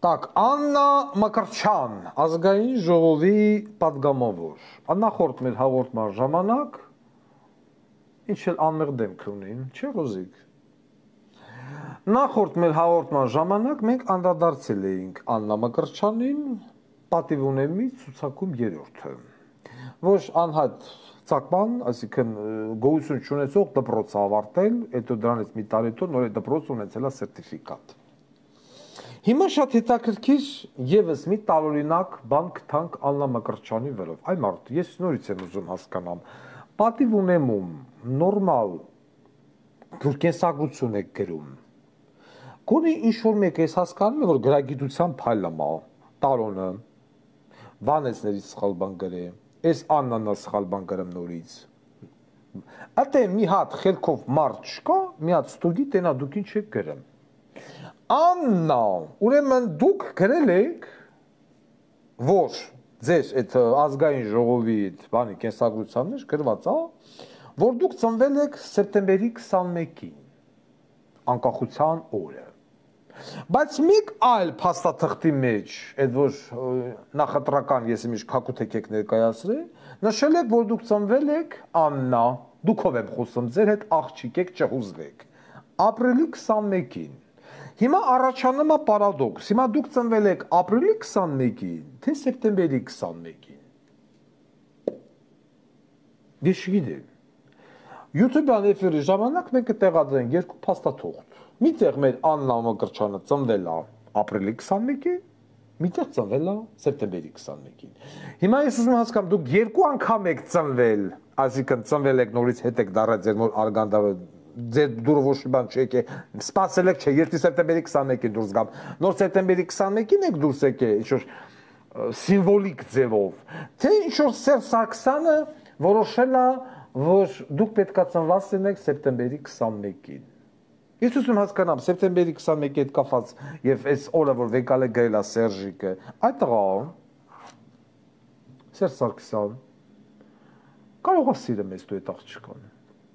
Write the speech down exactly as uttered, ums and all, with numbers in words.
Так, Աննա Մկրտչյան, ազգային ժողովի պատգամավոր։ Նախորդ մեր հաղորդման ժամանակ ինչ էլ անմեղ դեմք ունին, չէ՞ Ռոզիկ։ Նախորդ մեր հաղորդման ժամանակ մենք անդրադարձել էինք Աննա Մկրտչյանին, պատիվ ունեմի ցուցակում երրորդը։ Ոչ անհատ ցակման, այսինքն գոյություն չունեցող դպրոց ավարտել, հետո դրանից մի տարի հետո նոր դպրոց ունեցել է սերտիֆիկատ։ Հիմա շատ հետաքրքիր եւս մի տարօրինակ բան գտանք Աննա Մկրտչյանի վերով։ Այ մարդ, ես նորից եմ ուզում հասկանամ, պատիվ ունեմում նորմալ կենսագրություն եք գրում։ Գոնե ինչ-որ մեկ ես հասկանում է, որ գրագիտության փայլում է, տարոնը, Վանեսներից սխալ բան գրե, այս Աննան է սխալ բան գրում նորից։ Ատե մի հատ խելքով մարդ չկա, մի հատ ստուգի տենա դուք ինչ եք գրում։ Աննա, ուրեմն դուք գրել եք, որ ձեր այդ ազգային ժողովի բանի կենսագրության մեջ գրված է, որ դուք ծնվել եք սեպտեմբերի քսանմեկին, անկախության օրը։ Բայց մեկ այլ փաստաթղթի մեջ, այդ որ նախընտրական ես իմիջ քակութեք եք ներկայացրել, նշել եք, որ դուք ծնվել եք Աննա, դուքով եմ խոսում, ձեր հետ աղջիկ եք չհուզվեք, ապրիլի քսանմեկին։ Հիմա առաջանում է պարադոքս, հիմա դուք ծնվել եք ապրիլի քսանմեկին, թե սեպտեմբերի քսանմեկին։ Ես չգիտեմ։ YouTube-յան էֆիրի ժամանակ մենք կտեղադրենք երկու փաստաթուղթ։ Միտեղ մեր Աննա Մկրտչյանը ծնվել է ապրիլի քսանմեկին, միտեղ ծնվել է սեպտեմբերի քսանմեկին։ Հիմա ես ուզում եմ հասկանամ, դուք երկու անգամ եք ծնվել, այսինքն ծնվել եք նորից հետ եք դառել ձեր նոր արգանդավը, ձեր դուրը ոչ մի բան չեք, սպասել եք, չէ, երկու սեպտեմբերի քսանմեկին դուրս գամ, նոր սեպտեմբերի քսանմեկին եք դուրս եկել, ինչ-որ սիմվոլիկ ձևով, թե ինչ-որ Սերժ Սարգսյանը որոշել է, որ դուք պետք է ծնված լինեք սեպտեմբերի քսանմեկին։ Ես ուզում հասկանամ, սեպտեմբերի քսանմեկի հետ կապված եւ այս օրը, որ վեկալ է գրել է Սերժիկը, այդ տղա Սերժ Սարգսյան կարող է սիրել մեզ դու այդ աղջկան։